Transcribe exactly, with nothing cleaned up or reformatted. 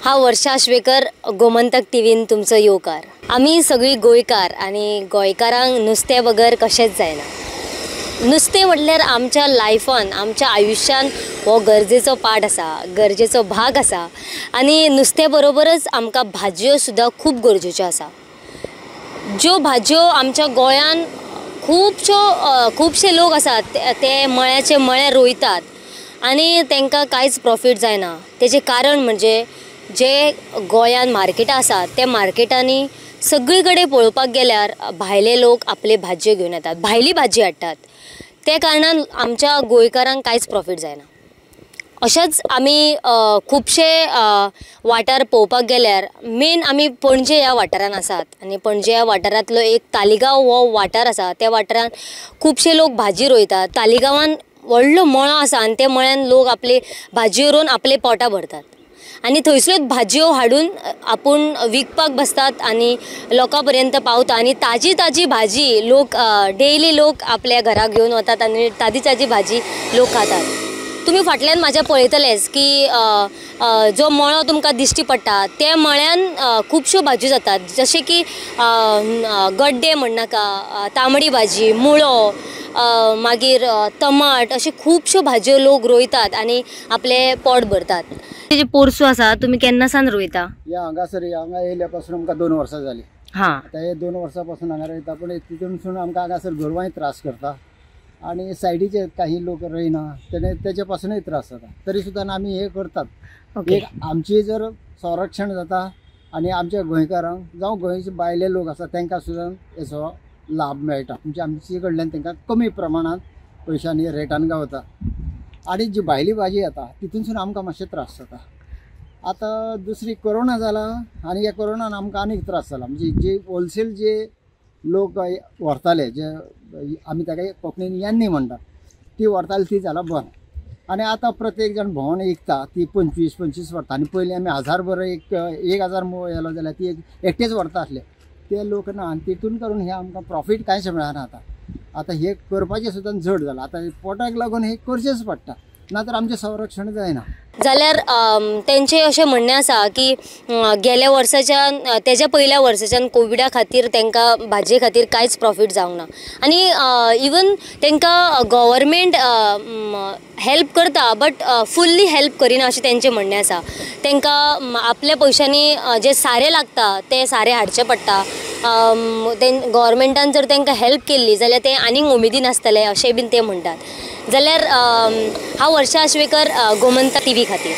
हांव वर्षा आश्वेकर, गोमंतक टीव्हीन तुमचो येवकार। आमी सगळीं गोंयकार आनी गोंयकारांक नुस्तें बगर कशेंच जायना। नुस्तें म्हटल्यार आमच्या लायफान, आमच्या आयुश्यान हो गरजेचो पार्ट आसा, गरजेचो भाग आसा आनी नुस्तें बरोबरच आमकां भाजयो सुद्दां खूब गरजेच्यो आसा। ज्यो भाजयो आमच्या गोंयान खुबश्यो खुबशे लोक आसात ते मळ्याचे मळे रोयतात आनी तांकां कांयच प्रॉफीट जायना। तेजें कारण म्हणजे जे गोंयान मार्केटां आसात त्या मार्केटांनी सगळी कडेन पळोवपाक गेल्यार भायले लोक आपले भाजयो घेवन येतात, भायली भाजी हाडटात। त्या कारणान आमच्या गोंयकारांक कांयच प्रॉफीट जायना। अशेंच आमी खुबशे वाठार पळोवपाक गेल्यार मेन आमी पणजे ह्या वाठारान आसात आनी पणजे ह्या वाठारांतलो एक तालिगांव हो वाठार आसा। त्या वाठारान खुबशे लोक भाजी रोयतात। तालिगांवान व्हडलो मळो आसा आनी त्या मळ्यान लोक आपले भाजयो रोवन आपले पोटां भरतात आनी थंयसरूच भाजयो हाडून आपूण विकपाक बसतात आनी लोकां पर्यंत पावता आनी ताजी ताजी भाजी लोक डेली लोक आपल्या घरा घेवन वतात आनी ताजी ताजी भाजी लोक खातात। तुमी फाटल्यान म्हाज्या पळयतलेच की जो मळो तुमकां दिश्टी पडटा त्या मळ्यान खुबश्यो भाजयो जातात, जशें की गड्डे म्हणनाका, तांबडी भाजी, मुळो, मागीर टमाट, अश्यो खुबश्यो भाजयो लोक रोयतात आनी आपलें पोट भरतात। तेजे पोरसो आसा तुमी केन्ना सान रोयता? या हांगासर हांगा येयल्या पासून आमकां दोन वर्सां जालीं। हां, आतां हे दोन वर्सां पासून हांगा रोयता, पूण तितूनसून आमकां हांगासर गोरवांय त्रास करता आनी सायडीचे काही लोक रोयना तेणे तेजे पासूनय त्रास जाता। तरी सुद्दां आमी हे करतात। एक आमची जर संरक्षण जाता आनी आमच्या गोंयकारांक जावं गोंयचे भायले लोक आसा तांकां सुद्दां हेचो लाभ मेळटा। म्हणजे आमचे कडल्यान तांकां कमी प्रमाणांत पयशांनी रेटान गावता आनी जी भायली भाजी येता तितूनसून आमकां मातशे त्रास जाता। आतां दुसरी कोरोना जाला आनी ह्या कोरोनान आमकां आनीक त्रास जाला। म्हणजे जे होलसेल जे लोक व्हरताले, जे आमी ताका कोंकणीन यांनी म्हणटा, ती व्हरताली ती जाला बंद आनी आतां प्रत्येक जाण भोंवन विकता ती पंचवीस पंचवीस व्हरता। आनी पयलीं आमी हजार बरो एक एक हजार येलो जाल्यार ती एकटेच व्हरता आसले, ते लोक ना आनी तितून करून हे आमकां प्रॉफीट कांयच मेळना। आतां आतां हे करपाचें सुद्दां जड जालां। आतां पोटाक लागून हें करचेंच पडटा, ना तर आमचें संरक्षण जायना। जाल्यार तेंचें अशें म्हणणें आसा की गेल्या वर्साच्यान तेज्या पयल्या वर्साच्यान कोविडा खातीर तांकां भाजये खातीर कांयच प्रॉफीट जावंक ना आनी इवन तांकां गव्हर्मेंट हेल्प करता बट फुल्ली हेल्प करिना अशें तेंचें म्हणणें आसा। तांकां आपल्या पयशांनी जे सारें लागता तें सारें हाडचें पडटा। गव्हर्मेंटान जर तांकां हेल्प केल्ली जाल्यार ते आनीक उमेदीन आसतले अशें बीन ते म्हणटात। जाल्यार हांव वर्षा आश्वेकर, गोमंतक टीव्ही खातीर।